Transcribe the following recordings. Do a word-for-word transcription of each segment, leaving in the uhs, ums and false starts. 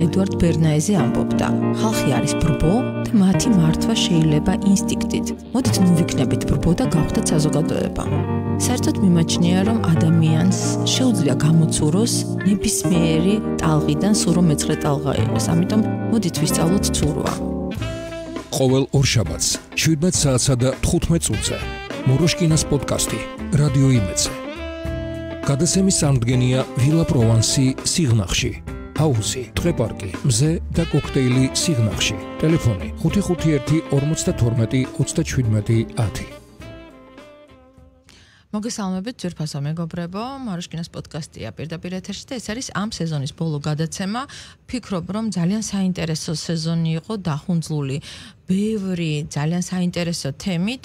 ედუარდ ბერნაეზე ამბობდა, ხალხი არის ბრბო და მათი მართვა შეიძლება ინსტინქტით. მოდით ნუ ვიქნებით ბრბო და გავხდეთ საზოგადოება. საერთოდ მიმაჩნია, რომ ადამიანს შეუძლია გამოცუროს ნებისმიერი ტალღიდან სურო მეცხრე ტალღა იყოს. ამიტომ მოდით ვისწავლოთ ცურვა. ყოველ ორშაბათს შვიდმეტ საათსა და თხუთმეტ წუთზე მოროშკინას პოდკასტი რადიო იმედზე. გადაცემის წარმდგენია ვილა პროვანსი სიღნაღში. ჰაუსი, ტყეპარკი, მზე და კოქტეილი სიღნაღში. ტელეფონი ხუთი ხუთი ერთი ორმოცდათორმეტი ოცდაშვიდმეტი ათი. მოგესალმებით ძვირფასო მეგობრებო, მოროშკინას პოდკასტია პირდაპირ ეთერში და ეს არის ამ სეზონის ბოლო გადაცემა. ფიქრობ, რომ ძალიან საინტერესო სეზონი იყო დახუნძლული ბევრი ძალიან საინტერესო თემით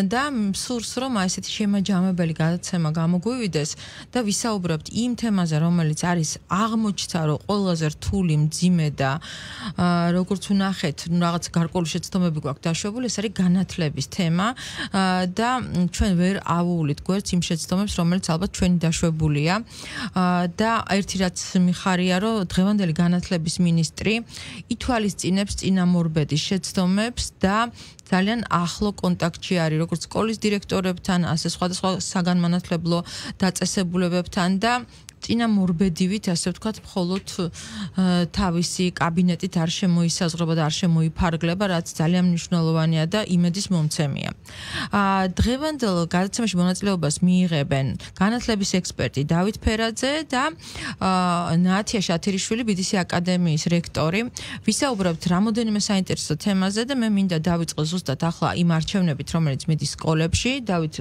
და სურს რომ აი ესეთი შემაჯამებელი გადაცემა გამოგვივიდეს და ვისაუბრებთ იმ თემაზე, რომელიც არის აღმოჩნდა, რომ ყველაზე რთული, მძიმე და როგორც ვნახეთ, რაღაც გარკვეული შეცდომები გვაქვს დაშვებული, ეს არის განათლების თემა და ჩვენ ვერ ავუვლით გვერდს იმ შეცდომებს, რომელიც ალბათ ჩვენი დაშვებულია და ერთი რაც მიხარია, რომ დღევანდელი განათლების მინისტრი ითვალისწინებს წინამორბედის შეცდომებს და ძალიან ახლო კონტაქტში არის როგორც სკოლის დირექტორებთან, ასე სხვადასხვა საგანმანათლებლო დაწესებულებებთან და წინამორბედივით, ასე ვთქვათ, მხოლოდ თავისი კაბინეტით არ შემოისაზღვრება და არ შემოიფარგლება, რაც ძალიან მნიშვნელოვანია და იმედის მომცემია. დღევანდელ გადაცემაში მონაწილეობას მიიღებენ განათლების ექსპერტი დავით ფერაძე და ნათია შათირიშვილი, ბი დი სი აკადემიის რექტორი. ვისაუბრებთ რამოდენიმე საინტერესო თემაზე და მე მინდა დავიწყო ზუსტად ახლა იმ არჩევნებით, რომელიც მიდის სკოლებში. დავით,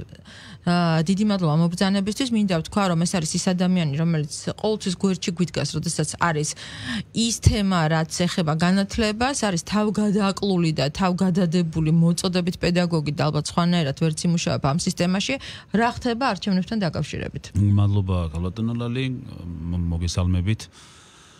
დიდი მადლობა მობრძანებისთვის. მინდა ვთქვა, რომ ეს არის ის ადამიანი, რომელიც ყოველთვის გვერდში გვიდგას, როდესაც არის ის თემა, რაც ეხება განათლებას, არის თავგადააკლული და თავგადადებული მოწოდებით პედაგოგი და ალბათ სხვანაირად ვერც იმუშავებ ამ სისტემაში. რა ხდება არჩევნებთან დაკავშირებით? მადლობა ბატონო ლალი, მოგესალმებით.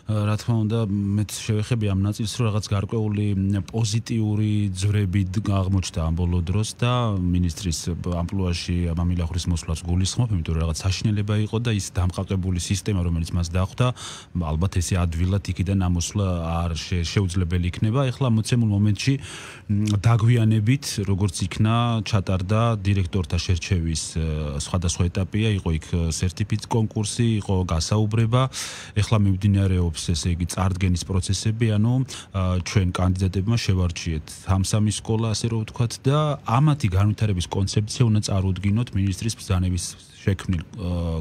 რა თქმა უნდა, მეც შევეხები ამ ნაწილს, რომ რაღაც გარკვეული პოზიტიური ძვრები აღმოჩნდა ამ ბოლო დროს და ministris ამპლუაში მამილახურის მოსვლას გულისხმობ, იმიტომ რომ რაღაც საშინელება იყო და ის დამყარებული სისტემა, რომელიც მას დახვდა, ალბათ ესე ადვილად იქიდან ამოსვლა არ შეუძლებელი იქნება. ეხლა მოცემულ მომენტში დაგვიანებით, როგორც იქნა, ჩატარდა დირექტორთა შერჩევის სხვადასხვა ეტაპია, იყო იქ სერტიფიცირების კონკურსი, იყო გასაუბრება, ეხლა მიმდინარეობს ესე იგი წარდგენის პროცესები, ანუ ჩვენ კანდიდატებმა შევარჩიეთ სამსამი სკოლა, ასე რომ ვთქვათ და ამათი განვითარების კონცეფცია უნდა წარუდგინოთ ministris ბრძანების შექმნილ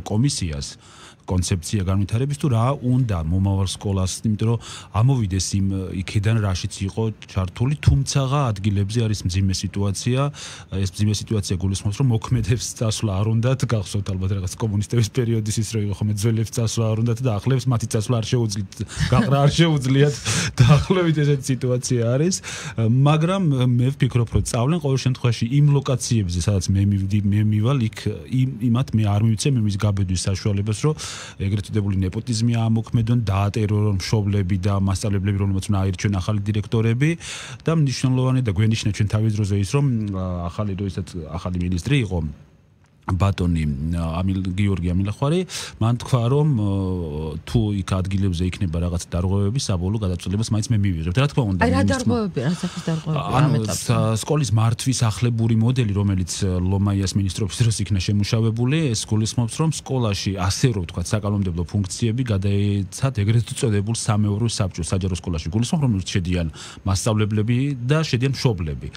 კომისიას. კონცეფცია განვითარების თუ რა უნდა მომავალ სკოლას, იმიტომ რომ ამოვიდეს იმ იქიდან რაშიც იყო ჩართული, თუმცა ადგილებზე არის მძიმე სიტუაცია. ეს მძიმე სიტუაცია გულისხმობს, რომ მოქმედებს წასვლა არ უნდათ, გახსოვთ ალბათ რაღაც კომუნისტების პერიოდის ის რო იყო ხომ ძველებს წასვლა არ უნდათ და ახლებს მათი წასვლა არ შეუძლიათ, გაყრა არ შეუძლიათ და ახლებით ესეთი სიტუაცია არის. მაგრამ მე ვფიქრობ, რომ წავლენ ყოველ შემთხვევაში იმ ლოკაციებზე, სადაც მე მივდი, მე მივალ, იქ იმათ მე არ მივიცემ იმის გაბედვის საშუალებას, რომ ეგრეთ წოდებული ნეპოტიზმი ამოქმედონ, დაატერორონ მშობლები და მასწავლებლები, რომელმაც უნდა აირჩიონ ახალი დირექტორები და მნიშვნელოვანი და გვენიშნა ჩვენ თავის დროზე ის, რომ ახალი როდესაც ახალი მინისტრი იყო ბატონი ამილ გიორგი ამილახვარი, მან თქვა, რომ თუ იქ ადგილებზე იქნება რაღაც დარღვევები, საბოლოო გადაწყვეტილებას მაინც მე მივიღებ. რა თქმა უნდა, აი რა დარღვევები, რა სახის დარღვევები? ანუ სკოლის მართვის ახლებური მოდელი, რომელიც ლომაიას მინისტრობის დროს იქნა შემუშავებული, ეს გულისხმობს, რომ სკოლაში ასე რომ ვთქვათ, საკანონმდებლო ფუნქციები გადაეცათ ეგრეთ წოდებულ სამეურვეო საბჭოს, საჯარო სკოლაში. გულისხმობ, რომ შედიან მასწავლებლები და შედიან მშობლები.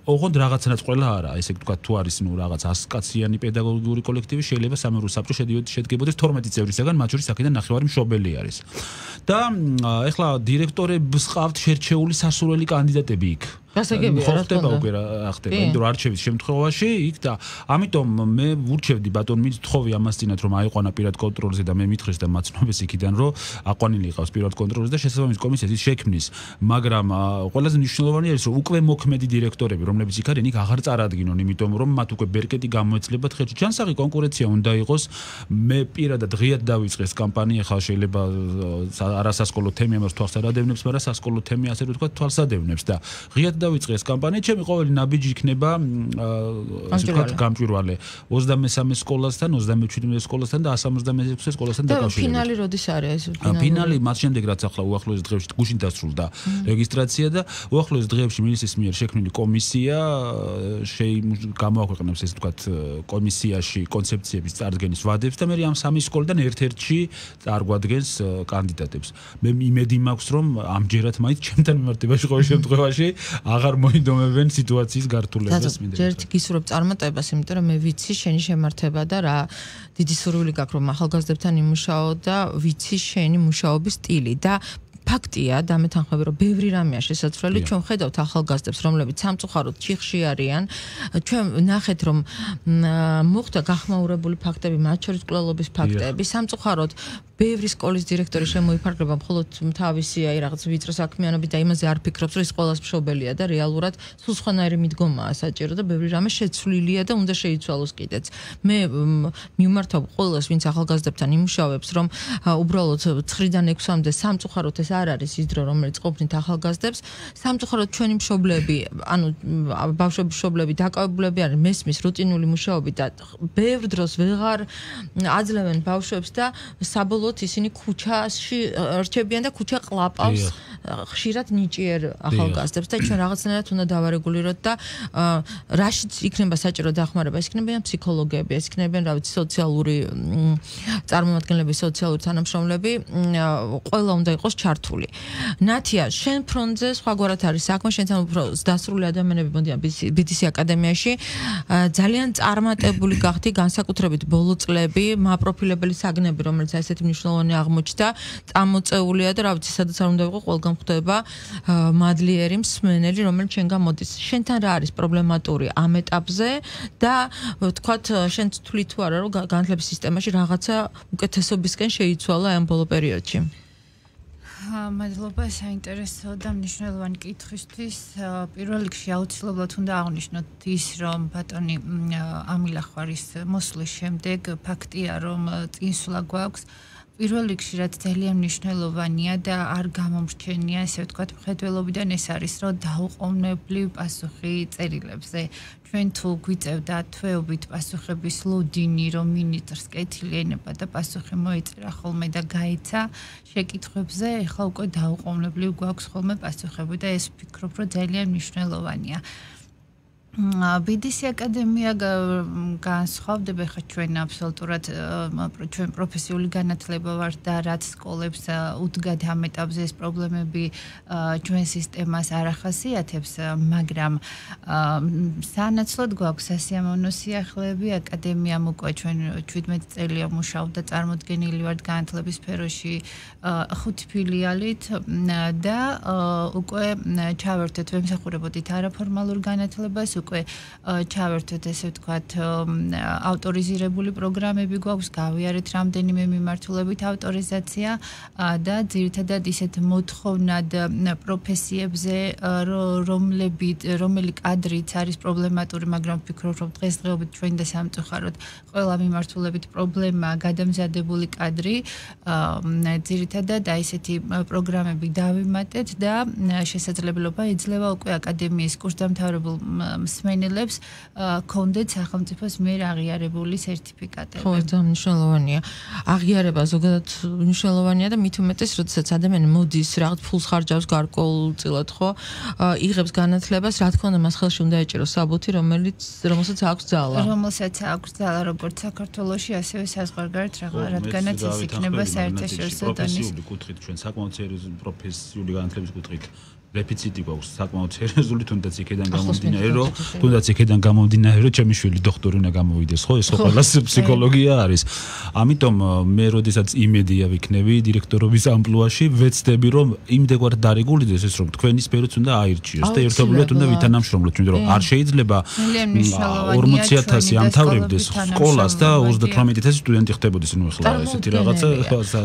ოღონდ რაღაცნაირად ყველა არა, ესე ვთქვათ, თუ არის ნუ რაღაც ასკაციანი პედაგოგიური კოლექტივი, შეიძლება სამეურვეო საბჭო შედგებოდეს თორმეტი წევრისაგან, მათ შორის აქედან ნახევარი მშობელი არის. და ეხლა დირექტორებს ყავთ შერჩეული სასურველი კანდიდატები იქ. გასაგებია, რა ხდება უკვე რა ხდება, იმიტომ რომ არჩევის შემთხვევაში იქ და ამიტომ მე ვურჩევდი ბატონ მithხოვი ამას წინათ, რომ აიყვანა პირად კონტროლზე და მე მითხრეს და მაცნობეს იქიდან, რომ აყვანილი იყავს პირად კონტროლზე და შესაბამის კომისიას ის შექმნის. მაგრამ ყველაზე მნიშვნელოვანი არის, რომ უკვე მოქმედი დირექტორები, რომლებიც იქ არიან, იქ აღარ წარადგინონ, იმიტომ რომ მათ უკვე ბერკეტი გამოეცლებათ ხელში. ჯანსაღი კონკურენცია უნდა იყოს. მე პირადად ღიად დავიწყე ეს კამპანია, ხა შეიძლება არასასკოლო თემი ამას თვალს არ ადევნებს, მაგრამ სასკოლო თემი ასე რომ თქვა თვალს ადევნებს და ღიად დავიწყე ეს კამპანია, ჩემი ყოველი ნაბიჯი იქნება ასე ვთქვათ გამჭვირვალე ოცდამესამე სკოლასთან, ოცდამეჩვიდმეტე სკოლასთან და cent ოცდამეექვსე სკოლასთან დაკავშირებით. და ფინალი როდის არის? ფინალი მას შემდეგ რაც ახლა უახლოეს დღეებში გუშინ დასრულდა რეგისტრაცია და უახლოეს დღეებში მინისტრის მიერ შექმნილი კომისია გამოაქვეყნებს ესე ვთქვათ კომისიაში კონცეფციების წარდგენის ვადებს და მე ამ სამი სკოლიდან ერთ-ერთში წარგვადგენს კანდიდატებს. მე იმედი მაქვს რომ ამჯერად მაინც ჩემთან მიმართებაში ყოველ შემთხვევაში აღარ მოინდომებენ სიტუაციის გართულებას მინდა. ჯერ გისურვებ წარმატებას, იმიტომ რომ მე ვიცი შენი შემართება და რა დიდი სურვილი გაქვს რომ ახალგაზრდებთან იმუშაო და ვიცი შენი მუშაობის სტილი და ფაქტია და მეთანხმები რომ ბევრი რამეა შესაძლებელი ჩვენ ხედავთ ახალგაზრდებს რომლებიც სამწუხაროდ ჩიხში არიან ჩვენ ნახეთ რომ მოხდა გახმაურებული ფაქტები მათ შორის კვლელობის ფაქტები სამწუხაროდ ბევრი სკოლის დირექტორი შემოიფარგლება მხოლოდ თავისი აი რაღაც ვიწრო საქმიანობით და იმაზე არ ფიქრობს რომ ის ყველას მშობელია და რეალურად სულ სხვანაირი მიდგომაა საჭირო და ბევრი რამე შეცვლილია და უნდა შეიცვალოს კიდეც მე მიმართავ ყველას ვინც ახალგაზრდებთან იმუშავებს რომ უბრალოდ ცხრიდან ექვსამდე სამწუხაროდ ეს არ არის ის დრო რომელიც ყოფნით ახალგაზრდებს სამწუხაროდ ჩვენი მშობლები ანუ ბავშვების მშობლები დაკავებულები არიან მესმის რუტინული მუშაობით და ბევრ დროს ვეღარ აძლევენ ბავშვებს და საბოლოოდ ისინი ქუჩაში რჩებიან და ქუჩა ყლაპავს ხშირად ნიჭიერ ახალგაზრდებს და ჩვენ რაღაცნაირად უნდა დავარეგულიროთ და რაშიც იქნება საჭირო დახმარება ეს იქნებიან ფსიქოლოგები ეს იქნებიან რა ვიცი სოციალური წარმომადგენლები სოციალური თანამშრომლები ყველა უნდა იყოს ჩართული ნათია შენ ფრონტზე სხვაგვარად არის საქმე შენთან უფრო დასრული ადამიანები მოდიან ბი დი სი აკადემიაში ძალიან წარმატებული გახდი განსაკუთრებით ბოლო წლები მაპროფილებელი საგნები რომელიც ასეთი მნიშვნელოვანი აღმოჩნდა წამოწეულია და რა ვიცი სადაც არ უნდა ვიყო ყველგან ხვდება მადლიერი მსმენელი რომელიც შენგან მოდის შენთან რა არის პრობლემატური ამ ეტაპზე და ვთქვათ შენ თვლი თუ არა რომ განათლების სისტემაში რაღაცა უკეთესობისკენ შეიცვალა ამ ბოლო პერიოდში მადლობა საინტერესო და მნიშვნელოვანი კითხვისთვის. პირველ რიგში აუცილებლად უნდა აღვნიშნოთ ის, რომ ბატონი ამილახვარის მოსვლის შემდეგ ფაქტია, რომ წინსვლა გვაქვს. პირველ რიგში რაც ძალიან მნიშვნელოვანია და არ გამომრჩენია, ესე ვთქვათ, მხედველობიდან ეს არის, რომ დაუყოვნებლივ პასუხი წერილებზე. ჩვენ თუ გვიწევდა თვეობით პასუხების ლოდინი, რომ მინისტრს კეთილი ენება და პასუხი მოიწერა ხოლმე და გაიცა შეკითხვებზე, ეხლა უკვე დაუყოვნებლივ გვაქვს ხოლმე პასუხები და ეს ვფიქრობ, რომ ძალიან მნიშვნელოვანია. ბი დი სი აკადემია განსხვავდება ხა ჩვენ აბსოლუტურად ჩვენ პროფესიული განათლება ვართ და რაც სკოლებს უდგათ ამ ეტაპზე ეს პრობლემები ჩვენ სისტემას არ ახასიათებს, მაგრამ სანაცვლოდ გვაქვს სასიამოვნო სიახლეები აკადემიამ უკვე ჩვენ შვიდმეტი წელია მუშაობდა წარმოდგენილი ვართ განათლების სფეროში ხუთი ფილიალით და უკვე ჩავერთეთ ვემსახურებოდით არაფორმალურ განათლებას უკვე ჩავერთვეთ ესე ვთქვათ ავტორიზირებული პროგრამები გვაქვს გავიარეთ რამდენიმე მიმართულებით ავტორიზაცია და ძირითადად ისეთ მოთხოვნად პროფესიებზე რომლებით რომელი კადრიც არის პრობლემატური მაგრამ ვფიქრობ რომ დღესდღეობით ჩვენ და სამწუხაროდ ყველა მიმართულებით პრობლემაა გადამზადებული კადრი ძირითადად აი ესეთი პროგრამები დავიმატეთ და შესაძლებლობა იძლევა უკვე აკადემიის კურსდამთავრებულ მსმენელებს კონდეთ სახელმწიფოს მიერ აღიარებული სერტიფიკატები. ხო, ძალიან მნიშვნელოვანია. აღიარება ზოგადად მნიშვნელოვანია და მით უმეტეს, როდესაც ადამიანი მოდის, რაღაც ფულს ხარჯავს გარკვეულწილად, ხო? იღებს განათლებას, რა თქმა უნდა, მას ხელში უნდა ეჭიროს საბუთი, რომელიც რომელსაც აქვს ძალა. რომელსაც აქვს ძალა, როგორც საქართველოში, ასევე საზღვარგარეთ, რადგანაც ეს იქნება საერთაშორისო დონის. პროფესიული კუთხით ჩვენ საკმაოდ სერიოზული პროფესიული განათლების კუთხით დეფიციტი გვაქვს საკმაოდ სერიოზული თუნდაც იქედან გამომდინარე რომ თუნდაც იქედან გამომდინარე რომ ჩემი შვილი დოქტორი უნდა გამოვიდეს ხო ეს ყველას ფსიქოლოგია არის ამიტომ მე როდესაც იმედია ვიქნები დირექტორობის ამპლუაში ვეცდები რომ იმდეგვარ დარეგულირდეს ეს რომ თქვენი სფეროც უნდა აირჩიოს და ერთობლივად უნდა ვითანამშრომლოთ იმიტომ რომ არ შეიძლება ორმოცი ათასი ამთავრებდეს სკოლას და ოცდათვრამეტი ათასი სტუდენტი ხდებოდეს ნუ ახლა ესეთი რაღაცა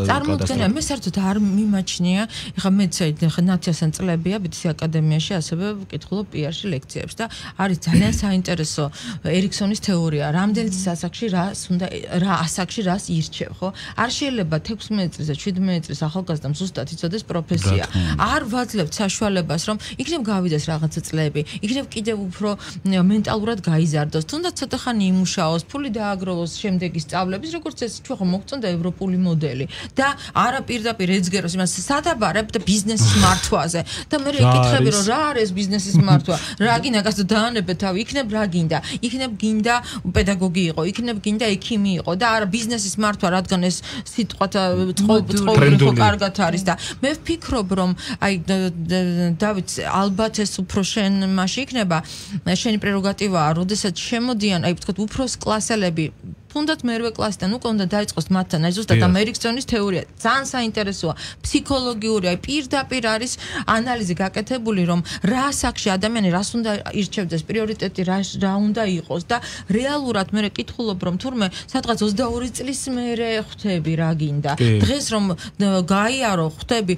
წარმოუდგენელია მე საერთოდ არ მიმაჩნია ეხლა მეც ახლა ნათიასთან წლებია მგზავრია ბიტის აკადემიაში, ასევე ვკითხულობ პი-არში ლექციებს და არის ძალიან საინტერესო ერიქსონის თეორია. რამდენიც ასაკში რას უნდა რა ასაკში რას ირჩევ, ხო? არ შეიძლება თექვსმეტ წლის და შვიდმეტ წლის ახალგაზრდამ ზუსტად იცოდეს პროფესია. არ ვაძლევთ საშუალებას, რომ იქნებ გავიდეს რაღაცა წლები, იქნებ კიდევ უფრო მენტალურად გაიზარდოს, თუნდაც ცოტა ხანი იმუშაოს, ფული დააგროვოს შემდეგი სწავლების, როგორც ეს ჩვენ ხომ მოგწონდა ევროპული მოდელი და არა პირდაპირ ეძგეროს იმას სადაბარებ და ბიზნესის მართვაზე და მე ეკითხები რომ რა არის ბიზნესის მართვა, რა გინდა გასა დაანებე თავი, იქნებ რა გინდა, იქნებ გინდა პედაგოგი იყო, იქნებ გინდა ექიმი იყო და არა ბიზნესის მართვა, რადგან ეს სიტყვათა წყობილი ხო კარგად არის და მე ვფიქრობ რომ აი დავით ალბათ ეს უფრო შენ მასში იქნება შენი პრეროგატივაა, როდესაც შემოდიან აი ვთქვათ უფროს კლასელები თუნდაც მერვე კლასიდან უკვე უნდა დაიწყოს მათთან აი ზუსტად ამ ერიქსონის თეორია ძალიან საინტერესოა ფსიქოლოგიური აი პირდაპირ არის ანალიზი გაკეთებული რომ რა ასაკში ადამიანი რას უნდა ირჩევდეს პრიორიტეტი რა რა უნდა იყოს და რეალურად მე კითხულობ რომ თურმე სადღაც ოცდაორი წლის მერე ხვდები რა გინდა დღეს რომ გაიარო ხვდები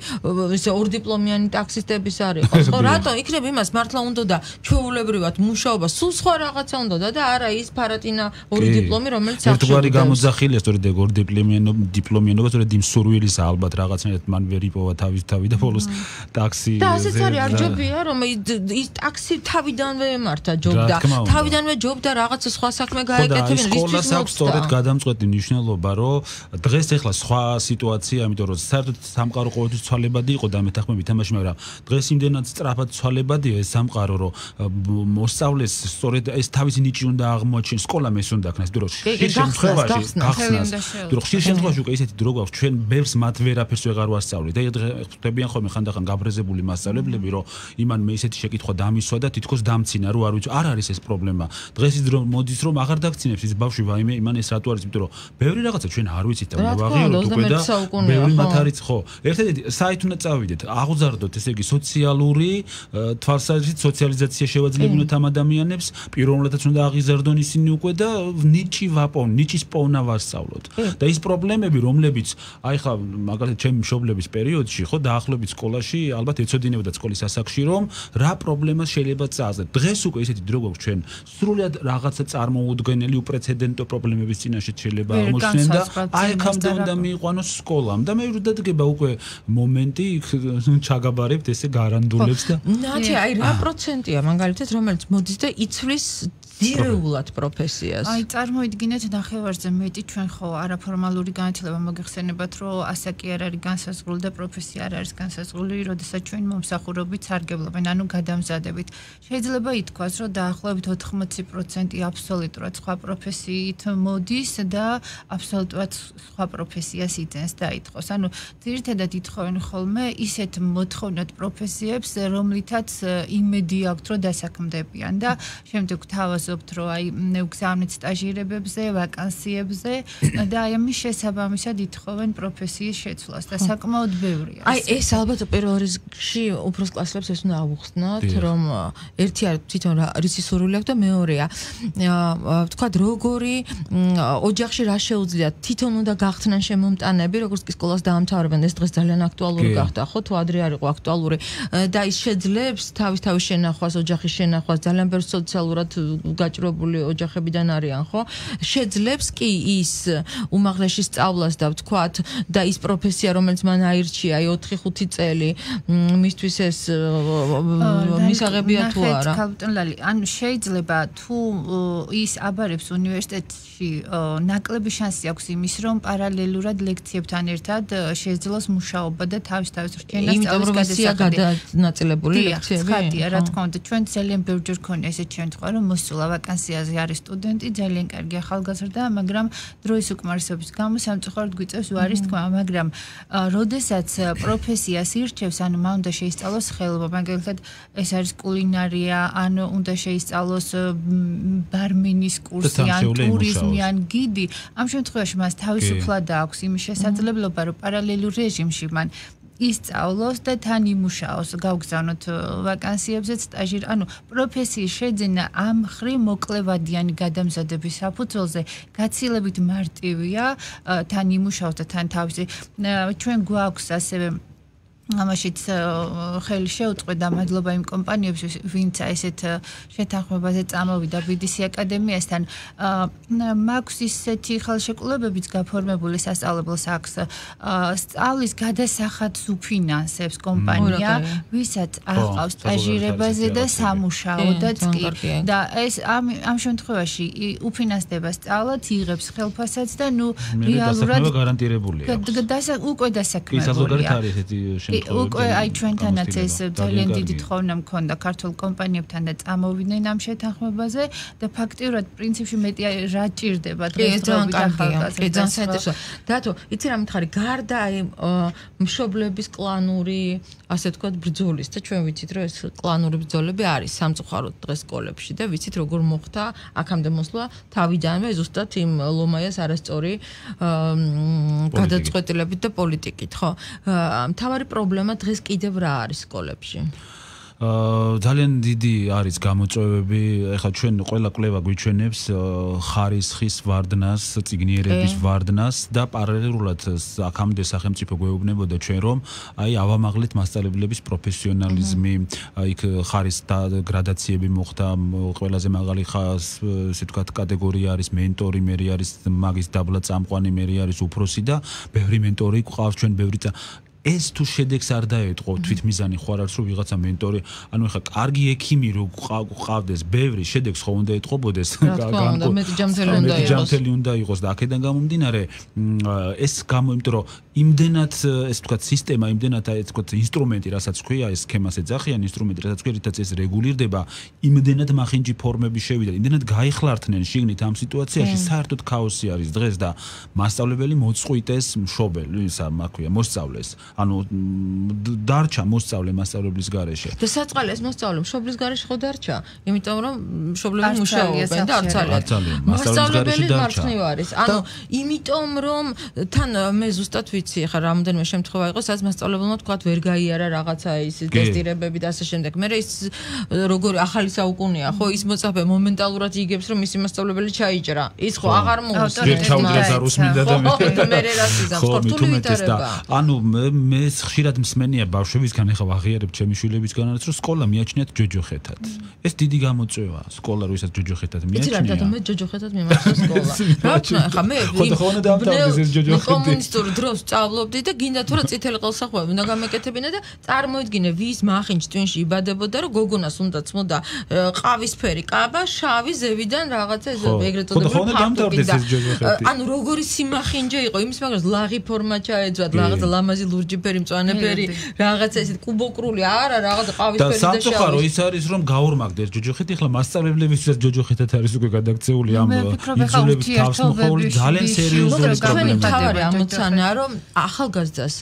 ესე ორდიპლომიანი ტაქსისტების არ იყოს ხო რატო იქნებ იმას მართლა უნდა და ჩვეულებრივად მუშაობა სულ სხვა რაღაცა უნდა და არა ის ფარატინა ორი დიპლომი რომელიც ერთგვარი გამოძახილია სწორედ ეგ დიპლომიანო დიპლომიანობა სწორედ იმ სურვილისა ალბათ რაღაცნაირად მან ვერ იპოვა თავის თავი და ბოლოს ტაქსი და ასეც არის არ ჯობია რომ ის ტაქსი თავიდანვე ემართა ჯობდა თავიდანვე ჯობდა რაღაცა სხვა საქმე გაეკეთებინა სკოლას აქვს სწორედ გადამწყვეტი მნიშვნელობა რომ დღეს ეხლა სხვა სიტუაცია იმიტომ რომ საერთოდ სამყარო ყოველთვის ცვალებადი იყო და მეთანხმებით თამაში მაგრამ დღეს იმდენად სწრაფად ცვალებადია ეს სამყარო რომ მოსწავლეს სწორედ ეს თავისი ნიჭი უნდა აღმოაჩენოს სკოლამ ეს უნდა ქნას იმიტომ რომ შემთხვევაში გახსნას თუ ხშირ შემთხვევაში უკვე ისეთი დრო გვაქვს ჩვენ ბევრს მათ ვერაფერს ვეღარ ვასწავლით და ხვდებიან ხოლმე ხანდახან გაბრეზებული მასწავლებლები რომ იმან მე ისეთი შეკითხვა დამისვა და თითქოს დამცინა რომ არ ვიცი არ არის ეს პრობლემა დღეს ის დრო მოდის რომ აღარ დაგცინებს ის ბავშვი ვაიმე იმან ეს რატო არის იმიტომ რომ ბევრი რაღაცა ჩვენ არ ვიცით და ვაღიაროთ უკვე და ბევრი მათ არის ხო ერთადერთი საით უნდა წავიდეთ აღუზარდოთ ესე იგი სოციალური თვალსაზრისით სოციალიზაცია შევაძლებინოთ ამ ადამიანებს პიროვნულადაც უნდა აღიზარდონ ისინი უკვე და ნიჭი ვაპონ ნიჭის პოვნა ვასწავლოთ და ის პრობლემები რომლებიც აი ხა მაგალითად ჩემი მშობლების პერიოდში ხო დაახლოებით სკოლაში ალბათ ეცოდინებოდა სკოლის ასაკში რომ რა პრობლემას შეიძლება წააძლევთ დღეს უკვე ისეთი დრო გვაქვს ჩვენ სრულად რაღაცა წარმოუდგენელი უპრეცედენტო პრობლემების წინაშე შეიძლება აღმოჩნდნენ და აი აქამდე უნდა მიიყვანოს სკოლამ და მე ვდადგება უკვე მომენტი ჩაგაბარებთ ესე გარანდულებს და ნათი აი რა პროცენტია მაგალითად რომელიც მოდის და იცვლის ძირეულად პროფესიას. აი წარმოიდგინეთ ნახევარზე მეტი ჩვენ ხო არაფორმალური განათლება მოგეხსენებათ რომ ასაკი არ არის განსაზღვრული და პროფესია არ არის განსაზღვრული, როდესაც ჩვენ მომსახურებით სარგებლობენ, ანუ გადამზადებით. შეიძლება ითქვას რომ დაახლოებით ოთხმოცი პროცენტი აბსოლუტურად სხვა პროფესიით მოდის და აბსოლუტურად სხვა პროფესიას იძენს დაითხოვს. ანუ ძირითადად ითხოვენ ხოლმე ისეთ მოთხოვნად პროფესიებს, რომლითაც იმედი აქვთ რომ დასაქმდებიან და შემდეგ თავას რომ აი გზავნით სტაჟირებებზე, ვაკანსიებზე და აი ამის შესაბამისად ითხოვენ პროფესიის შეცვლას და საკმაოდ ბევრია. აი ეს ალბათ პირველ რიგში უფროს კლასელებს ეს უნდა ავუხსნათ, რომ ერთი არის თვითონ რისი სურვილი აქვს და მეორეა ვთქვათ როგორი ოჯახში რა შეუძლიათ თვითონ უნდა გახდნენ შემომტანები, როგორც კი სკოლას დაამთავრებენ, ეს დღეს ძალიან აქტუალური გახდა, ხო თუ ადრე არ იყო აქტუალური და ის შეძლებს თავის თავის შენახვას, ოჯახის შენახვას, ძალიან ბევრ სოციალურად გაჭრობული ოჯახებიდან არიან, ხო? შეძლებს კი ის უმაღლესი სწავლას და ვთქვათ და ის პროფესია, რომელიც მან აირჩია, აი ოთხი ხუთი წელი, მისთვის ეს მისაღებია თუ არა? კაპიტანლალი, ანუ შეიძლება თუ ის აბარებს უნივერსიტეტში ნაკლები შანსი აქვს იმის, რომ პარალელურად ლექციებთან ერთად შეძლოს მუშაობა და თავის თავის რჩენა სწავლის გადასახადი. ნაწილებული ლექციები? ხათია, რა თქმა უნდა, ჩვენ ძალიან ბევრჯერ ქონია ესეთ შემთხვევა, რომ მოსულა ვაკანსიაზე არის სტუდენტი, ძალიან კარგი ახალგაზრდა, მაგრამ დროის უკმარისობის გამო სამწუხაროდ გვიწევს უარის თქმა, მაგრამ როდესაც პროფესიას ირჩევს, ანუ მან უნდა შეისწავლოს ხელობა, მაგალითად ეს არის კულინარია, ან უნდა შეისწავლოს ბარმენის კურსი, ან ტურიზმი, ან გიდი, ამ შემთხვევაში მას თავისუფლად აქვს იმის შესაძლებლობა, რომ პარალელურ რეჟიმში მან ისწავლოს და თან იმუშაოს, გავგზავნოთ ვაკანსიებზე, სტაჟირ, ანუ პროფესიის შეძენა ამ ხრი მოკლევადიანი გადამზადების საფუძველზე გაცილებით მარტივია, თან იმუშაოს და თან თავისი ჩვენ გვაქვს ასევე ამაშიც ხელი შეუწყდა მადლობა იმ კომპანიებს, ვინც ესეთ შეთანხმებაზე წამოვიდა ბი დი სი აკადემიასთან. მაქვს ისეთი ხელშეკრულებებიც გაფორმებული სასწავლებელს აქვს. სწავლის გადასახადს უფინანსებს კომპანია, ვისაც აყავს სტაჟირებაზე და სამუშაოდაც კი. და ეს ამ ამ შემთხვევაში უფინანსდება სწავლაც, იღებს ხელფასსაც და ნუ რეალურად გარანტირებულია. უკვე დასაქმებულია. უკვე აი ჩვენთანაც ეს ძალიან დიდი თხოვნა მქონდა ქართულ კომპანიებთან და წამოვიდნენ ამ შეთანხმებაზე და ფაქტიურად პრინციპში მეტი რა ჭირდება დღესდღეობით ახალგაზრდას. კი, ძალიან საინტერესოა. დათო, იცი რა მითხარი, გარდა აი მშობლების კლანური, ასე ვთქვათ, ბრძოლის და ჩვენ ვიცით, რომ ეს კლანური ბრძოლები არის სამწუხაროდ დღეს სკოლებში და ვიცით როგორ მოხდა აქამდე მოსვლა თავიდანვე ზუსტად იმ ლომაიას არასწორი გადაწყვეტილებით და პოლიტიკით, ხო? მთავარი პრობლემა დღეს კიდევ რა არის სკოლებში? აა ძალიან დიდი არის გამოწვევები. ეხლა ჩვენ ყველა კვლევა გვიჩვენებს ხარისხის ვარდნას, წიგნიერების ვარდნას და პარალელურად აქამდე სახელმწიფო გვეუბნებოდა ჩვენ რომ აი ავამაღლეთ მასწავლებლების პროფესიონალიზმი, იქ ხარის გრადაციები მოხდა, ყველაზე მაღალი ხას, ესე ვთქვათ, კატეგორია არის მენტორი, მე არის მაგის დაბლა წამყვანი, მე არის უფროსი და ბევრი მენტორი გვყავს ჩვენ ბევრი ეს თუ შედეგს არ დაეთყო თვითმიზანი ხო არ არის რომ ვიღაცა მენტორი ანუ ეხა კარგი ექიმი რო ყავდეს ბევრი შედეგს ხო უნდა ეთყობოდეს განკო მეტი ჯამთელი უნდა იყოს ჯამთელი უნდა იყოს და აქედან გამომდინარე ეს გამო იმიტომ რომ იმდენად ეს თქვა სისტემა იმდენად ეს თქვა ინსტრუმენტი რასაც ქვია ეს სქემას ეძახიან ინსტრუმენტი რასაც ქვია რითაც ეს რეგულირდება იმდენად მახინჯი ფორმები შევიდა იმდენად გაიხლართნენ შიგნით ამ სიტუაციაში საერთოდ ქაოსი არის დღეს და მასწავლებელი მოწყვიტეს მშობელი ისა მაქვია მოსწავლეს ანუ დარჩა მოსწავლე მასწავლებლის გარეშე. და საწყალი ეს მოსწავლე მშობლის გარეშე ხო დარჩა? იმიტომ რომ მშობლები მუშაობენ და არ ცალიან. მასწავლებელი მარცხნივ არის. ანუ იმიტომ რომ თან მე ზუსტად ვიცი ხა რამოდენიმე შემთხვევა იყო, სადაც მასწავლებელმა თქვა ვერ გაიარა რაღაცა ის ტესტირებები და ასე შემდეგ. მე ის როგორი ახალი საუკუნეა, ხო ის მოწაფე მომენტალურად იგებს რომ მისი მასწავლებელი ჩაიჭრა. ის ხო აღარ მოუსმინდა და მე რას იზამს ხორთული ვითარება. ანუ მე ხშირად მსმენია ბავშვებისგან ეხლა ვაღიარებ ჩემი შვილებისგანაც რომ სკოლა მიაჩნიათ ჯოჯოხეთად. ეს დიდი გამოწვევა სკოლა რომ ისაც ჯოჯოხეთად მიაჩნია. იცი რა და მე ჯოჯოხეთად მიმართა სკოლა. რა თქმა უნდა მე ხოდა დამთავრდეს ეს ჯოჯოხეთი. კომუნისტურ დროს სწავლობდი და გინდა თუ რა წითელი ყელსახვევი უნდა გამეკეთებინა და წარმოიდგინე ვის მახინჯ ტვინში იბადებოდა რომ გოგონას უნდა წმოდა ყავისფერი კაბა შავი ზევიდან რაღაცა ეს ეგრეთ წოდებული ხოდა დამთავრდეს ეს ჯოჯოხეთი. ანუ როგორი სიმახინჯე იყო იმის მაგას ლაღი ფორმა ჩაეძვათ რაღაცა ლამაზი ლურჯიფერი მწვანეფერი რაღაცა ესეთ კუბოკრული არა რაღაცა ყავისფერი და შავი. და სამწუხარო ის არის რომ გაორმაგდეს ჯოჯოხეთი ახლა მასწავლებლებისთვის ჯოჯოხეთად არის უკვე გადაქცეული ამ იძულების თავსმოხვეული ძალიან სერიოზული პრობლემაა. თავარი ამოცანაა რომ ახალგაზრდას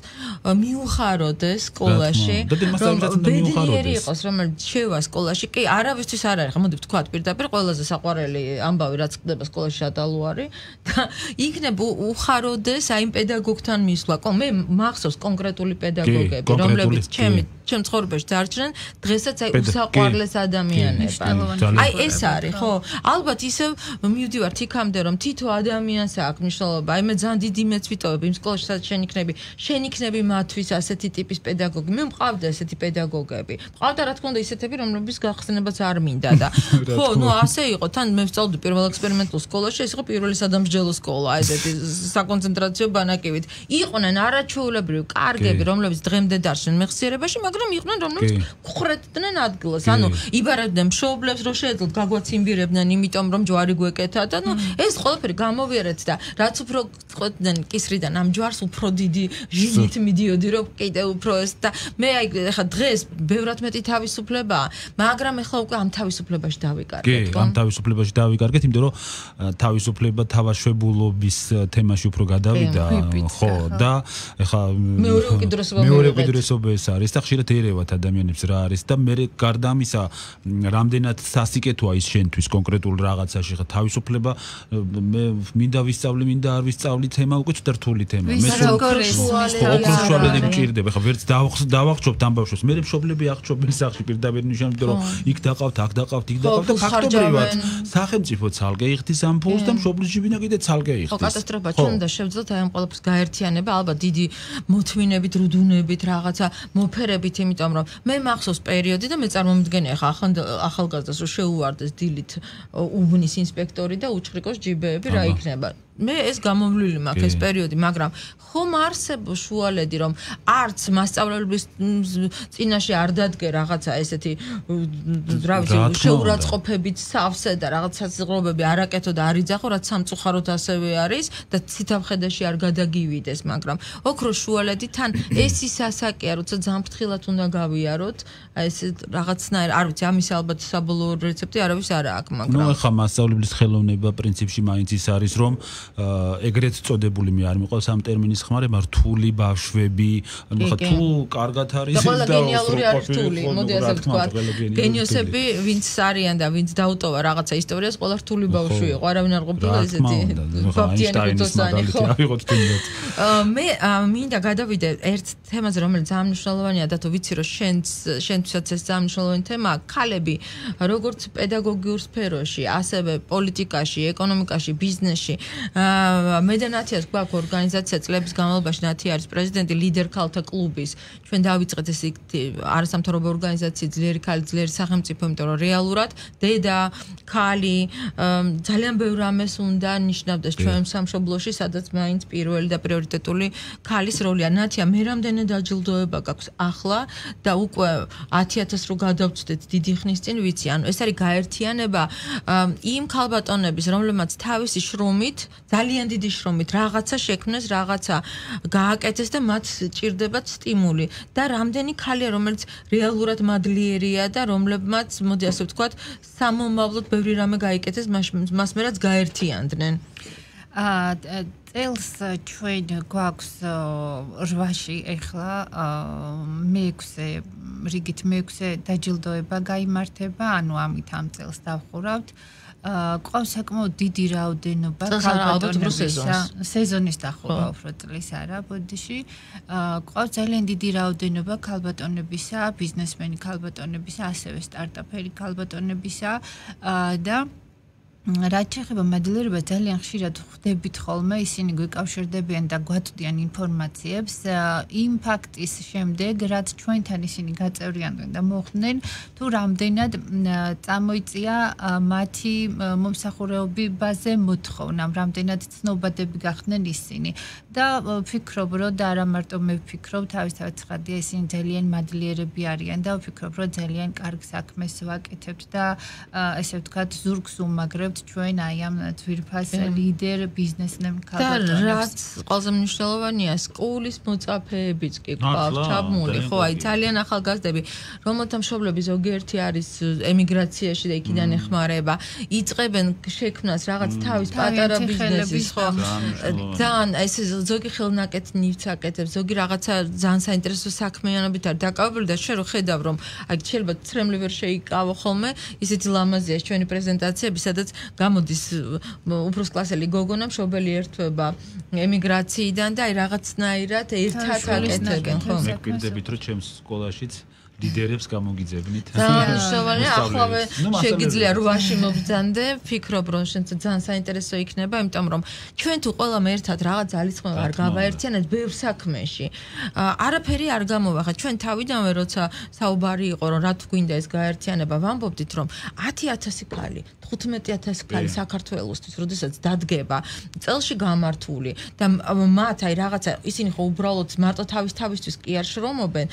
მიუხაროდეს სკოლაში რომ ბედნიერი იყოს რომელიც შევა სკოლაში კი არავისთვის არ არის ხა მოდი ვთქვათ პირდაპირ ყველაზე საყვარელი ამბავი რაც ხდება სკოლაში შატალუარი და იქნებ უხაროდეს აი იმ პედაგოგთან მისვლა. მე მახსოვს კონკრეტული პედაგოგები რომლებიც ჩემი ჩემ ცხოვრებაში დარჩნენ დღესაც აი უსაყვარლეს ადამიანებად. აი ეს არის ხო? ალბათ ისევ მივდივართ იქამდე რომ თითო ადამიანს აქვს მნიშვნელობა. აი მე ძალიან დიდი მეც ვიტოვებ იმ სკოლაში სადაც შენ იქნები, შენ იქნები მათთვის ასეთი ტიპის პედაგოგი. მე მყავდა ესეთი პედაგოგები. მყავდა რა თქმა უნდა ისეთები რომლებიც გახსნებაც არ მინდა და ხო, ნუ ასე იყო. თან მე ვსწავლდი პირველ ექსპერიმენტულ სკოლაში, ეს იყო პირველი სადამსჯელო სკოლა, ესეთი საკონცენტრაციო ბანაკივით. იყვნენ არაჩვეულებრივი კარგები, რომლებიც დღემდე დარჩნენ მეხსიერებაში, მაგრამ იყვნენ რომლებიც ხრეთდნენ ადგილას. ანუ იბარებდნენ მშობლებს, რომ შეეძლოთ გაგვაციმბირებდნენ, იმიტომ რომ ჯვარი გვეკეთა და ნუ ეს ყველაფერი გამოვიარეთ და რაც უფრო ყვეთდნენ კისრიდან ამ ჯვარს უფრო დიდი ჟინით მიდიოდი რომ კიდე უფრო ეს და მე აი ხა დღეს ბევრად მეტი თავისუფლებაა, მაგრამ ეხლა უკვე ამ თავისუფლებაში დავიკარგეთ. კი, ამ თავისუფლებაში დავიკარგეთ, იმიტომ რომ თავისუფლება თავაშვებულობის თემაში უფრო გადავიდა, ხო და ეხლა მეორე უკიდურესობა მეორე უკიდურესობა ეს არის და ხშირად უცებ ერევათ ადამიანებს რა არის და მე გარდა ამისა რამდენად სასიკეთოა ის შენთვის კონკრეტულ რაღაცაში ხა თავისუფლება მე მინდა ვისწავლი მინდა არ ვისწავლი თემა უკვე რთული თემაა მე ოქროშუალედები მჭირდება ხა ვერც დავახშობთ ამ ბავშვებს მე მშობლები აღჩობენ სახში პირდაპირ ნიშნავთ რომ იქ დაყავთ აქ დაყავთ იქ დაყავთ და ფაქტობრივად სახელმწიფო ცალკე იხდის ამ ფულს და მშობლის ჯიბინა კიდე ცალკე იხდის ხო კატასტროფა ჩვენ უნდა შევძლოთ აი ამ ყველაფერს გაერთიანება ალბათ დიდი მოთმინებით რუდუნებით რაღაცა მოფერებით იმიტომ რომ მე მახსოვს პერიოდი და მე წარმომიდგენია ხა ახალგაზრდას რომ შეუვარდეს დილით უბნის ინსპექტორი და უჩხრიკოს ჯიბეები რა იქნება მე ეს გამოვლილი მაქვს ეს პერიოდი მაგრამ ხომ არსებობს შუალედი რომ არც მასწავლებლების წინაშე არ დადგე რაღაცა ესეთი რა ვიცი შეურაცხყოფებით სავსე და რაღაც საზღვრებები არაკეთო და არ იძახო რაც სამწუხაროდ ასევე არის და ცითამხედეში არ გადაგივიდეს მაგრამ ოქროს შუალედი თან ეს ის ასაკია როცა ზამფრთხილად უნდა გავიაროთ აი ეს რაღაცნაირ არ ვიცი ამის ალბათ საბოლოო რეცეპტი არავის არ აქვს მაგრამ ნუ ახლა მასწავლებლის ხელოვნება პრინციპში მაინც ის არის რომ ეგრეთ წოდებული მე არ მიყვავს ამ ტერმინის ხმარება რთული ბავშვები ანუ ხა თუ კარგად არის და გენიალური არის რთული მოდი ასე ვთქვათ გენიოსები ვინც არიან და ვინც დაუტოვა რაღაცა ისტორიას ყველა რთული ბავშვი იყო არავინ არ ყოფილა ესეთი ბაბდიანი გუთოსანი ხო მე მინდა გადავიდე ერთ თემაზე რომელიც ძალიან მნიშვნელოვანია და თუ ვიცი რომ შენც შენთვისაც ეს ძალიან მნიშვნელოვანი თემაა ქალები როგორც პედაგოგიურ სფეროში ასევე პოლიტიკაში ეკონომიკაში ბიზნესში მე და ნათიას გვაქვს ორგანიზაცია წლების განმავლობაში ნათია არის პრეზიდენტი ლიდერ ქალთა კლუბის ჩვენ დავიწყეთ ეს არასამთავრობო ორგანიზაცია ძლიერი ქალი ძლიერი სახელმწიფო იმიტომ რომ რეალურად დედა ქალი ძალიან ბევრ რამეს უნდა ნიშნავდეს ჩვენ სამშობლოში სადაც მაინც პირველი და პრიორიტეტული ქალის როლია ნათია მე რამდენი დაჯილდოება გაქვს ახლა და უკვე ათი ათას რო გადავწდეთ დიდი ხნის წინ ვიცი ანუ ეს არის გაერთიანება იმ ქალბატონების რომლებმაც თავისი შრომით ძალიან დიდი შრომით რაღაცა შექმნეს, რაღაცა გააკეთეს და მათ ჭირდებათ სტიმული და რამდენი ქალია რომელიც რეალურად მადლიერია და რომლებმაც მოდი ასე ვთქვათ სამომავლოდ ბევრი რამე გაიკეთეს მას მერაც გაერთიანდნენ. აა წელს ჩვენ გვაქვს რვაში ახლა მეექვსე რიგით მეექვსე დაჯილდოება გაიმართება, ანუ ამით ამ წელს დავხურავთ. ყავს საკმაოდ დიდი რაოდენობა ქალბატონებისა სეზონის დახურვა უფრო წლის არა ბოდიში ყავს ძალიან დიდი რაოდენობა ქალბატონებისა ბიზნესმენი ქალბატონებისა ასევე სტარტაპერი ქალბატონებისა და რაც შეეხება მადლიერებას ძალიან ხშირად ხვდებით ხოლმე ისინი გვიკავშირდებიან და გვაწვდიან ინფორმაციებს იმ ფაქტის შემდეგ რაც ჩვენთან ისინი გაწევრიანდნენ და მოხდნენ თუ რამდენად წამოიწია მათი მომსახურებაზე მოთხოვნა რამდენად ცნობადები გახდნენ ისინი და ვფიქრობ რომ და არა მარტო მე ვფიქრობ თავისთავად ცხადია ისინი ძალიან მადლიერები არიან და ვფიქრობ რომ ძალიან კარგ საქმეს ვაკეთებთ და ესე ვთქვათ ზურგს უმაგრებთ ჩვენ აი ამ ძვირფას ლიდერ ბიზნესმენ ქალბატონებს. და რაც ყველაზე მნიშვნელოვანია, სკოლის მოწაფეებიც კი გვყავს ჩაბმული, ხო, აი ძალიან ახალგაზრდები, რომელთა მშობლები ზოგიერთი არის ემიგრაციაში და იქიდან ეხმარება, იწყებენ შექმნას რაღაც თავის პატარა ბიზნესის, ხო. ძალიან ეს ზოგი ხელნაკეთ ნივთს აკეთებს, ზოგი რაღაცა ძალიან საინტერესო საქმიანობით არის დაკავებული და შენ რო ხედავ რომ აი შეიძლება ცრემლი ვერ შეიკავო ხოლმე, ისეთი ლამაზია ჩვენი პრეზენტაციები, სადაც გამოდის უფროს კლასელი გოგონა მშობელი ერთვება ემიგრაციიდან და აი რაღაცნაირად ერთად აკეთებენ ხო მე გვინდებით რომ ჩემს სკოლაშიც ლიდერებს გამოგიძებნით. Ძალიან ახლავე შეგიძლია რვაში მობრძანდე, ვფიქრობ რომ შენც ძალიან საინტერესო იქნება, იმიტომ რომ ჩვენ თუ ყველამ ერთად რაღაც ძალისხმევა არ გავაერთიანეთ ბევრ საქმეში. არაფერი არ გამოვახა. ჩვენ თავიდანვე როცა საუბარი იყო რომ რა თუ გვინდა ეს გაერთიანება, ვამბობდით რომ ათი ათასი ქალი, თხუთმეტი ათასი ქალი საქართველოსთვის, როდესაც დადგება წელში გამართული და მათ აი რაღაცა ისინი ხო უბრალოდ მარტო თავის თავისთვის კი არ შრომობენ.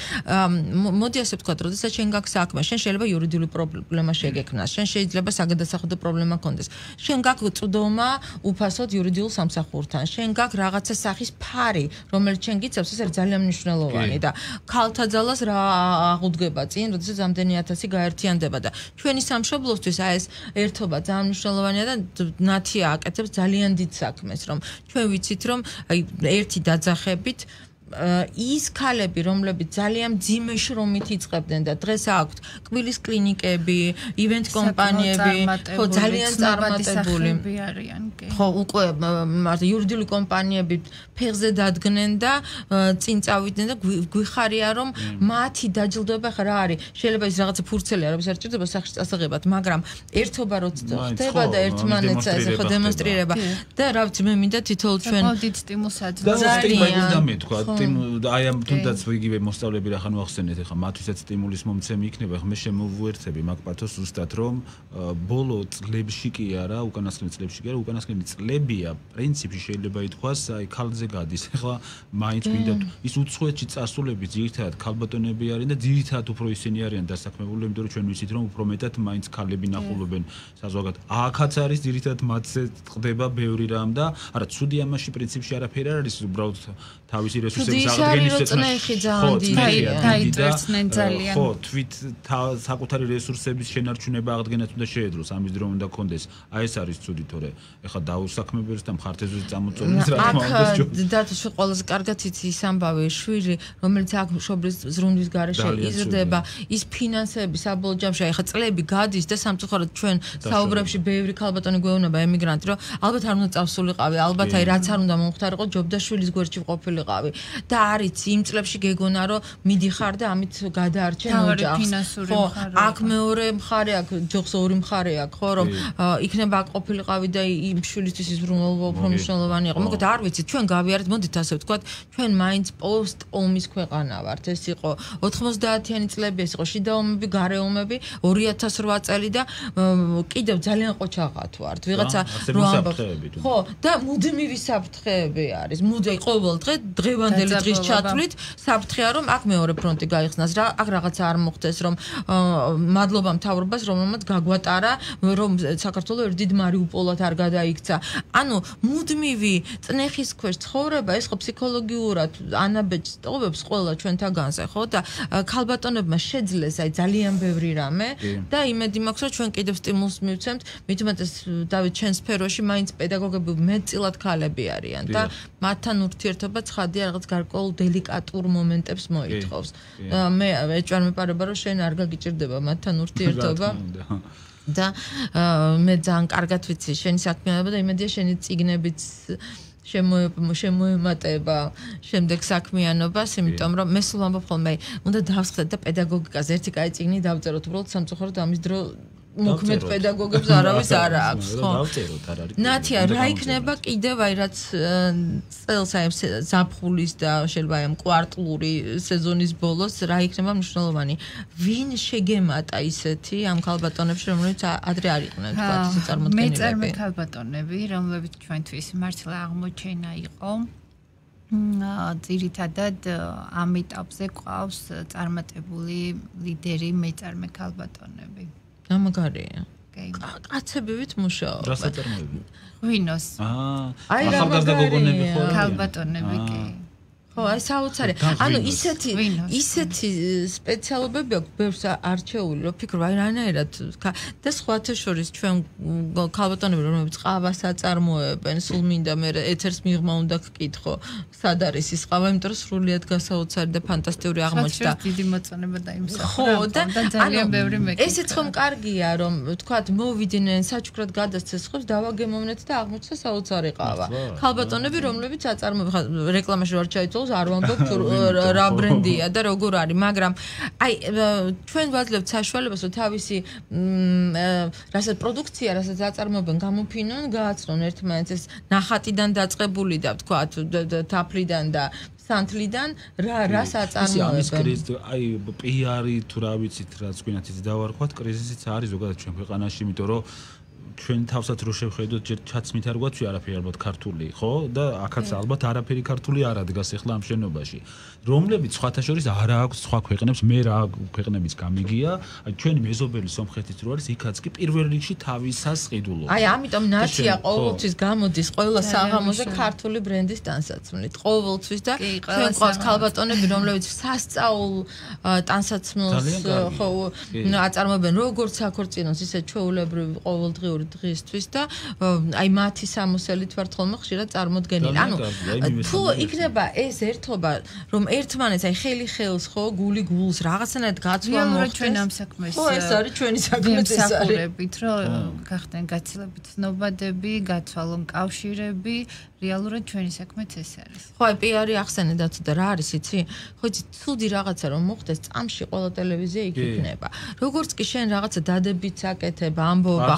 მოდი ასე ვთქვათ, როდესაც შენ გაქვს საქმე, შენ შეიძლება იურიდიული პრობლემა შეგექმნას, შენ შეიძლება საგადასახადო პრობლემა გქონდეს. შენ გაქვს წვდომა უფასოდ იურიდიულ სამსახურთან, შენ გაქვს რაღაცა სახის ფარი, რომელიც შენ გიცავს, ეს არის ძალიან მნიშვნელოვანი და ქალთა ძალას რა აღუდგება წინ, როდესაც ამდენი ათასი გაერთიანდება და ჩვენი სამშობლოსთვის აი ეს ერთობა ძალიან მნიშვნელოვანია და ნათია აკეთებს ძალიან დიდ საქმეს, რომ ჩვენ ვიცით, რომ აი ერთი დაძახებით ის ქალები, რომლებიც ძალიან მძიმე შრომით იწყებდნენ და დღეს აქვთ კბილის კლინიკები, ივენთ კომპანიები, ხო ძალიან წარმატებული არიან, კი. ხო, უკვე მარტო იურიდიული კომპანიები ფეხზე დადგნენ და წინ წავიდნენ და გვიხარია რომ მათი დაჯილდოება ხა რა არის? შეიძლება ის რაღაცა ფურცელი არის, არ ჭირდება სახში წასაღებად, მაგრამ ერთობა როც ხდება და ერთმანეთს ესე ხო დემონსტრირება და რა ვიცი მე მინდა თითოეულ ჩვენ მოდით სტიმულს აძლევს. და სტიმულს დამეთქვა, აი ამ თუნდაც იგივე მოსწავლეები რა ხან ვახსენეთ, ეხა მათვისაც სტიმულის მომცემი იქნება, ხა მე შემოვუერთები მაგ პათოს ზუსტად რომ ბოლო წლებში კი არა, უკანასკნელი წლებში კი არა, უკანასკნელი წლებია პრინციპში შეიძლება ითქვას, აი ქალზე გადის. ეხლა მაინც მინდა ის უცხოეთში წასულები ძირითადად ქალბატონები არიან და ძირითადად უფრო ისინი არიან დასაქმებული, იმიტომ რომ ჩვენ ვიცით რომ უფრო მეტად მაინც ქალები ნახულობენ საზოგადოებად. აქაც არის ძირითადად მათზე ხდება ბევრი რამ და არა ცუდი ამაში პრინციპში არაფერი არ არის, უბრალოდ თავისი რესურსების აღდგენის წნეხი ძალიან დაიწერცნენ ძალიან. ხო, თვით საკუთარი რესურსების შენარჩუნება აღდგენაც უნდა შეედროს, ამის დრო უნდა კონდეს. აი ეს არის ცუდი, თორე ეხლა დაუსაქმებელს და მხარდაჭერას წამოწოლებს რა თქმა უნდა. და თუ ყველაზე კარგად იცი ის ამბავი შვილი, რომელიც აქ მშობლის ზრუნვის გარეშე იზრდება, ის ფინანსები საბოლოო ჯამში ეხლა წლები გადის და სამწუხაროდ ჩვენ საუბრებში ბევრი ქალბატონი გვეუბნება ემიგრანტი, რომ ალბათ არ უნდა წავსულიყავი, ალბათ აი რაც არ უნდა მომხდარიყო, ჯობდა შვილის გვერდში ყოფილიყავი. და არის იმ წლებში გეგონა რომ მიდიხარ და ამით გადაარჩენ ოჯახს. ხო, აქ მეორე მხარე აქვს, ჯოხს ორი მხარე აქვს, ხო, რომ იქნება აქ ყოფილიყავი და იმ შვილისთვის ის ბრუნვა უფრო მნიშვნელოვანი იყო. მოკლედ არ ვიცი, ჩვენ გავიარეთ, მოდით ასე ვთქვათ, ჩვენ მაინც პოსტ ომის ქვეყანა ვართ. ეს იყო ოთხმოცდაათიანი წლები, ეს იყო შიდა ომები, გარე ომები, ორი ათას რვა წელი და კიდევ ძალიან ყოჩაღად ვართ. ვიღაცა რო ამბობს. ხო, და მუდმივი საფრთხეები არის. მუდმივი ყოველ დღე დღევანდელი დღის ჩათვლით საფრთხეა რომ აქ მეორე ფრონტი გაიხსნას რა აქ რაღაცა არ მოხდეს რომ მადლობა მთავრობას რომელმაც გაგვატარა რომ საქართველოს ერთ დიდ მარიუპოლად არ გადაიქცა ანუ მუდმივი წნეხის ქვეშ ცხოვრება ეს ხო ფსიქოლოგიურად ანაბეჭს ტოვებს ყველა ჩვენთაგანზე ხო და ქალბატონებმა შეძლეს აი ძალიან ბევრი რამე და იმედი მაქვს რომ ჩვენ კიდევ სტიმულს მივცემთ მithumetes დავით ჩვენ სფეროში მაინც პედაგოგები მეტწილად ქალები არიან და მათთან ურთიერთობა ცხადია რაღაც გარკვეულ დელიკატურ მომენტებს მოითხოვს. მე ეჭვარ მეპარება რომ შენ არ გაგიჭირდება მათთან ურთიერთობა. და მე ძალიან კარგად ვიცი შენი საქმიანობა და იმედია შენი წიგნებიც შემოემატება შემდეგ საქმიანობას, იმიტომ რომ მე სულ ამბობ ხოლმე უნდა დავსხდეთ და პედაგოგიკაზე ერთი კაი წიგნი დავწეროთ, უბრალოდ სამწუხაროდ ამის დრო მოქმედ პედაგოგებს არავის არ აქვს, ხო? დავწეროთ, არ არის. ნათია, რა იქნება კიდევ აი რაც წელს აი ზაფხულის და შეიძლება აი კვარტლური სეზონის ბოლოს რა იქნება მნიშვნელოვანი? ვინ შეგემატა ისეთი ამ ქალბატონებში, რომლებიც ადრე არ იყვნენ, თქვა ისე წარმოდგენილები? მეწარმე ქალბატონები, რომლებიც ჩვენთვის მართლა აღმოჩენა იყო. ძირითადად ამ ეტაპზე ყავს წარმატებული ლიდერი მეწარმე ქალბატონები. გამაგარია. კაცებივით მუშაობა. რა საწარმოები? ღვინოს. აა. აი რა ახალგაზრდა გოგონები ხო? ქალბატონები კი. ხო, აი საოცარი. ანუ ისეთი ისეთი სპეციალობები აქვს ბევრს არჩეული, რომ ფიქრობ აი რანაირად და სხვათა შორის ჩვენ ქალბატონები რომლებიც ყავას აწარმოებენ, სულ მინდა მე ეთერს მიღმა უნდა გკითხო, სად არის ის ყავა, იმიტომ რომ სრულიად გასაოცარი და ფანტასტიკური აღმოჩნდა. დიდი მოწონება დაიმსახურა. ხო, და ძალიან ბევრი მეკითხა. ესეც ხომ კარგია, რომ თქვათ მოვიდნენ საჩუქრად გადასცეს ხოს დავაგემოვნეთ და აღმოჩნდა საოცარი ყავა. ქალბატონები რომლებიც აწარმოებენ, რეკლამაში ვარ ჩაითვალე არ ვამბობ რა ბრენდია და როგორ არის, მაგრამ აი ჩვენ ვაძლევთ საშუალებას, რომ თავისი რასაც პროდუქცია, რასაც აწარმოებენ, გამოფინონ, გააცნონ ერთმანეთს ნახატიდან დაწყებული და ვთქვათ თაფლიდან და სანთლიდან რა რას აწარმოებენ. ამის კრიზისი, აი პიარი თუ რა ვიცით, რაც გვინათ ის დავარქვათ, კრიზისიც არის ზოგადად ჩვენ ქვეყანაში, იმიტომ რომ ჩვენ თავსაც რო შევხედოთ ჯერ ჩაცმით არ გვაქვს არაფერი ალბათ ქართული, ხო? და აქაც ალბათ არაფერი ქართული არ ადგას ახლა ამ შენობაში. რომლებიც სხვათა შორის არ აქვს სხვა ქვეყნებს, მე რა ქვეყნებიც გამიგია, აი ჩვენი მეზობელი სომხეთის რო არის, იქაც კი პირველ რიგში თავისას ყიდულობს. აი ამიტომ ნათია ყოველთვის გამოდის ყველა საღამოზე ქართული ბრენდის ტანსაცმლით. ყოველთვის და ჩვენ ყავს ქალბატონები, რომლებიც სასწაულ ტანსაცმელს ხო აწარმოებენ როგორც საქორწინოს, ისე ჩვეულებრივ ყოველდღიურ ტრადიციული დღისთვის და აი მათი სამოსელით ვართ ხოლმე ხშირად წარმოდგენილი. ანუ თუ იქნება ეს ერთობა, რომ ერთმანეთს აი ხელი ხელს ხო, გული გულს რაღაცნაირად გაცვლა მოხდეს. ჩვენ ამ საქმეს ხო, ეს არის ჩვენი საქმე ეს არის. რომ გახდნენ გაცილებით ცნობადები, გაცვალონ კავშირები, რეალურად ჩვენი საქმეც ეს არის. ხო, აი პიარი ახსენე და ცოტა რა არის იცი? ხო, იცი, ცუდი რაღაცა რომ მოხდეს, წამში ყველა ტელევიზია იქ იქნება. როგორც კი შენ რაღაცა დადებიც აკეთებ, ამბობა,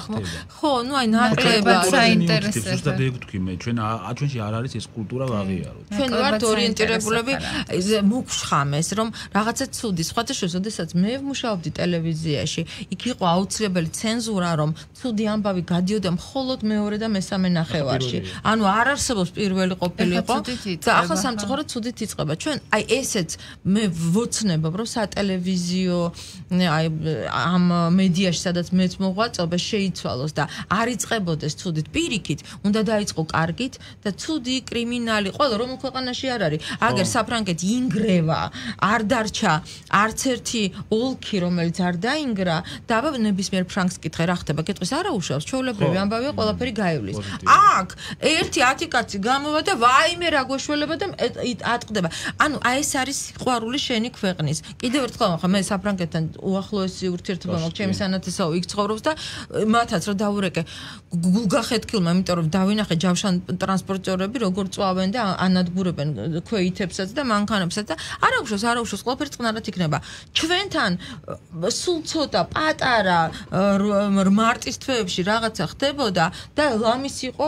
ხო, ნუ აი ნაკლებად საინტერესოა. ზუსტად ეგ ვთქვი მე, ჩვენ ჩვენში არ არის ეს კულტურა ვაღიაროთ. ჩვენ ვართ ორიენტირებულები მოგშხამეს, რომ რაღაცა ცუდი, სხვათა შორის, ოდესაც მე ვმუშაობდი ტელევიზიაში, იქ იყო აუცილებელი ცენზურა, რომ ცუდი ამბავი გადიოდა მხოლოდ მეორე და მესამე ნახევარში. ანუ არ არსებობს პირველი ყოფილიყო და ახლა სამწუხაროდ ცუდით იწყება. ჩვენ აი ესეც მე ვოცნებობ, რომ სატელევიზიო აი ამ მედიაში, სადაც მეც მოღვაწობ, შეიცვალოს და არ იწყებოდეს ცუდით. პირიქით, უნდა დაიწყო კარგით და ცუდი კრიმინალი, ყველა რომელ ქვეყანაში არ არის. აგერ საფრანგეთი ინგრევა, არ დარჩა არც ერთი ოლქი, რომელიც არ დაინგრა და აბა ნებისმიერ ფრანგს კითხე რა ხდება, კითხვის არა უშავს, ჩვეულებრივი ამბავია, ყველაფერი გაივლის. აქ ერთი ათი კაცი გამოვა და ვაიმე რა გვეშველება და ატყდება. ანუ აი ეს არის სიყვარული შენი ქვეყნის. კიდევ ერთხელ ახლა მე საფრანგეთთან უახლოესი ურთიერთობა მაქვს, ჩემი სანათესაო იქ ცხოვრობს და მათაც რა დაურეკე გულგახეთქილმა, იმიტომ რომ დავინახე ჯავშან ტრანსპორტიორები როგორ წვავენ და ანადგურებენ ქვეითებსაც და მანქანებსაც და არა უშავს, არა უშავს, ყველაფერი წყნარად იქნება. ჩვენთან სულ ცოტა პატარა მარტის თვეებში რაღაცა ხდებოდა და ლამის იყო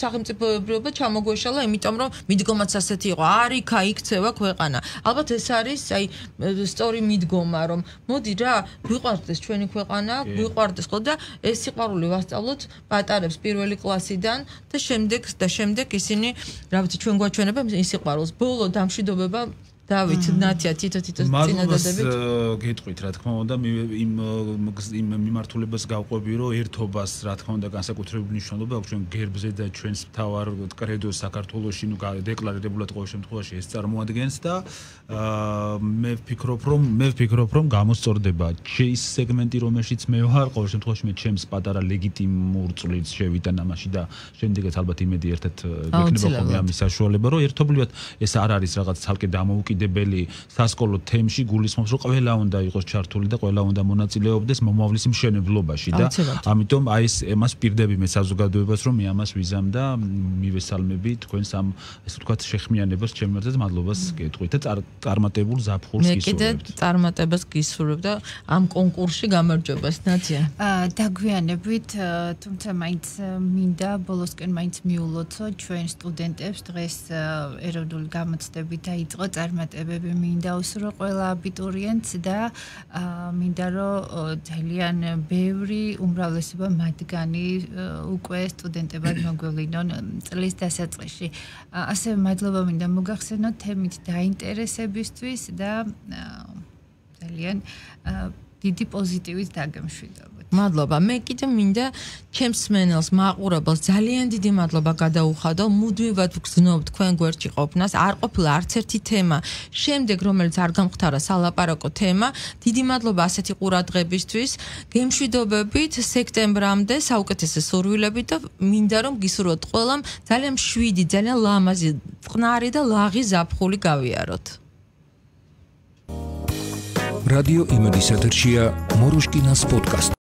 სახელმწიფოებრიობა ჩამოგვეშალა, იმიტომ რომ მიდგომაც ასეთი იყო, არ იქა იქცევა ქვეყანა. ალბათ ეს არის აი სწორი მიდგომა, რომ მოდი რა, გვიყვარდეს ჩვენი ქვეყანა, გვიყვარდეს ხო და ეს სიყვარული ვასწავლოთ პატარებს პირველი კლასიდან და შემდეგ და შემდეგ ისინი რა ვიცი ჩვენ გვაჩვენებენ ის სიყვარულს. ბოლო დამშვიდობება დავით ნათია თითო თითო წინადადებით გეტყვით რა თქმა უნდა იმ იმ მიმართულებას გავყვები რომ ერთობას რა თქმა უნდა განსაკუთრებული მნიშვნელობა აქვს ჩვენ გერბზე და ჩვენს მთავარ კრედოს საქართველოში ნუ დეკლარირებულად ყოველ შემთხვევაში ეს წარმოადგენს და მე ვფიქრობ რომ მე ვფიქრობ რომ გამოსწორდება ის სეგმენტი რომელშიც მე ვარ ყოველ შემთხვევაში მე ჩემს პატარა ლეგიტიმურ წვლილს შევიტან ამაში და შემდეგაც ალბათ იმედი ერთად გვექნება ხოლმე ამის საშუალება რომ ერთობლივად ეს არ არის რაღაც ცალკე დამოუკიდებელი სასკოლო თემში გულისხმობს რომ ყველა უნდა იყოს ჩართული და ყველა უნდა მონაწილეობდეს მომავლის მშენებლობაში და ამიტომ აი ეს εμას პირდები მე საზოგადოებას რომ მე ამას ვიზამ და მივესალმები თქვენს ამ ესე ვთქვათ შეხმიანებას ჩემი მართლაც მადლობას გეტყვით და წარმატებულ ზაფხულს გისურვებთ. მე კიდე წარმატებას გისურვებ და ამ კონკურსში გამარჯვებას ნათია. დაგვიანებით, თუმცა მაინც მინდა ბოლოსკენ მაინც მიულოცო ჩვენ სტუდენტებს დღეს ეროვნული გამოცდებით დაიწყო წარმატებები მინდა უსურო ყველა აბიტურიენტს და მინდა რომ ძალიან ბევრი უმრავლესობა მათგანი უკვე სტუდენტებად მოგვევლინონ წლის დასაწყისში. ასევე მადლობა მინდა მოგახსენოთ თემით დაინტერესებისთვის და ძალიან დიდი პოზიტივით დაგემშვიდობთ. მადლობა. მე კიდე მინდა ჩემს მსმენელს, მაყურებელს ძალიან დიდი მადლობა გადაუხადო. მუდმივად ვგზნობ თქვენ გვერდში ყოფნას. არ ყოფილა არც ერთი თემა, შემდეგ რომელიც არ გამختარა სალაპარაკო თემა. დიდი მადლობა ასეთი ყურადღებისთვის. გემშვიდობებით სექტემბრამდე საუკეთესო სურვილებით და მინდა რომ გისურვოთ ყველამ ძალიან მშვიდი, ძალიან ლამაზი, წყნარი და ლაღი ზაფხული გავიაროთ. რადიო იმედის ეთერშია მოროშკინას პოდკასტი.